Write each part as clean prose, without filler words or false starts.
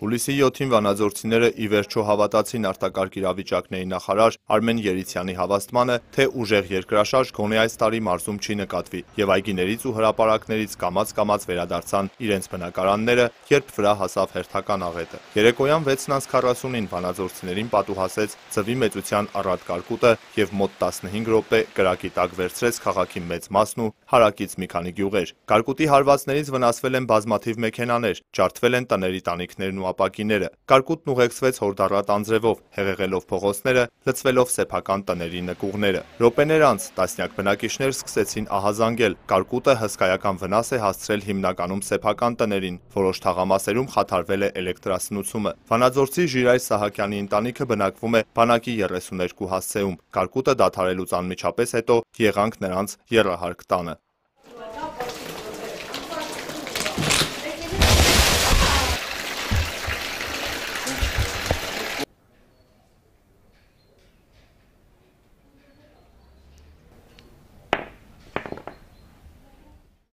Հուլիսի 7-ին վանաձորցիները ի վերջո հավատացին արտակարգ իրավիճակների նախարար Արմեն Երիցյանի հավաստմանը, թե ուժեղ երկրաշարժ գոնե այս տարի մարզում չի նկատվի, եւ այգիներից ու հրապարակներից կամաց վերադարձան իրենց բնակարանները, երբ վրա հասավ հերթական աղետը։ Երեկոյան 6:40-ին վանաձորցիներին պատուհասեց ձվի մեծության առատ կարկուտը եւ մոտ 15 րոպե կրակի տակ վերցրեց քաղաքի մեծ մասն ու հարակից մի քանի գյուղեր։ Կարկուտի հարվածներից վնասվել են բազմաթիվ մեքենաներ, ջարդվել են տների տանիքներն ու ապակիները։ Կարկուտն ուղեկցվեց հորդառատ անձրևով, հեղեղելով փողոցները, լցվելով սեփական տների նկուղները։ Րոպեներ անց տասնյակ բնակիչներ սկսեցին ահազանգել։ Կարկուտը հսկայական վնաս է հասցրել հիմնականում սեփական տներին, որոշ թաղամասերում խաթարվել է էլեկտրասնուցումը։ Վանաձորցի Ժիրայր Սահակյանի ընտանիքը բնակվում է բանակի 32 հասցեում։ Կարկուտը դադարելուց անմիջապես հետո եղանք նրանց եռահարկ տանը։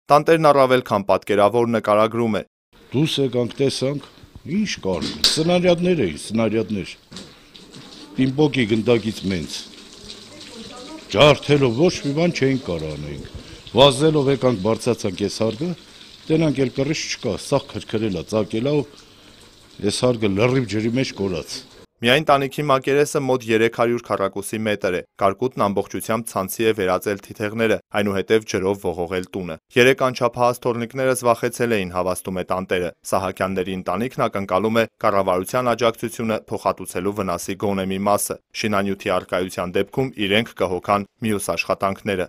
Տանտերն առավել քան պատկերավոր նկարագրում է. Դուրս եկանք, տեսանք, ինչ կար, սնարյադներ էին, սնարյադներ, պիմպոկի գնդակից մենց, ջարդելով ոչ մի բան չէինք կարող անենք, վազելով եկանք բարձացանք ես հարգը, տենանք էլ կռիչ չկա, սաղ քրքրելա, ծակելա ու ես հարգը լրիվ ջրի մեջ կորած։ Միայն տանիքի մակերեսը մոտ 300 քառակուսի մետր է, կարկուտն ամբողջությամբ ցանցի է վերածել թիթեղները, այնուհետև ջրով ողողել տունը։ 3 անչափահաս թորնիկները զվախեցել էին, հավաստում է տանտերը։ Սահակյանների ընտանիքն ակնկալում է կառավարության աջակցությունը փոխհատուցելու վնասի գոնե մի մասը։ Շինանյութի առկայության դեպքում իրենք կհոգան մյուս աշխատանքները։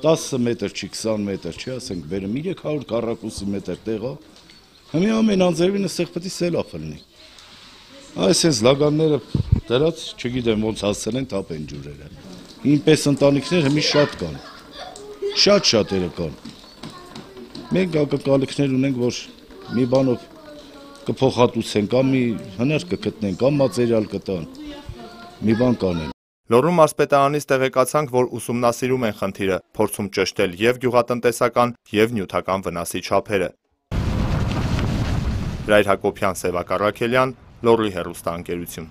10 մետր չի, 20 մետր չի, ասենք բերեմ 300 քառակուսի մետր տեղա, հիմա ամեն անձրևինը սեղ պետք է սելավ լինի։ Այս լագանները դրած, չգիտեմ ոնց հասցնեն թափեն ջուրերը։ Ինպես ընտանիքներ հիմի շատ կան, շատերը կան։ Մենք ակնկալիքներ ունենք, որ մի բանով կփոխհատուցեն, կամ մի հնար կգտնեն, կամ մատերիալ կտան, մի բան կանեն։ Լոռու մարզպետարանից տեղեկացանք, որ ուսումնասիրում են խնդիրը, փորձում ճշտել եւ գյուղատնտեսական եւ նյութական վնասի չափերը։ Ռայր Հակոբյան, Սևակ Առաքելյան, Լոռի հեռուստաընկերություն։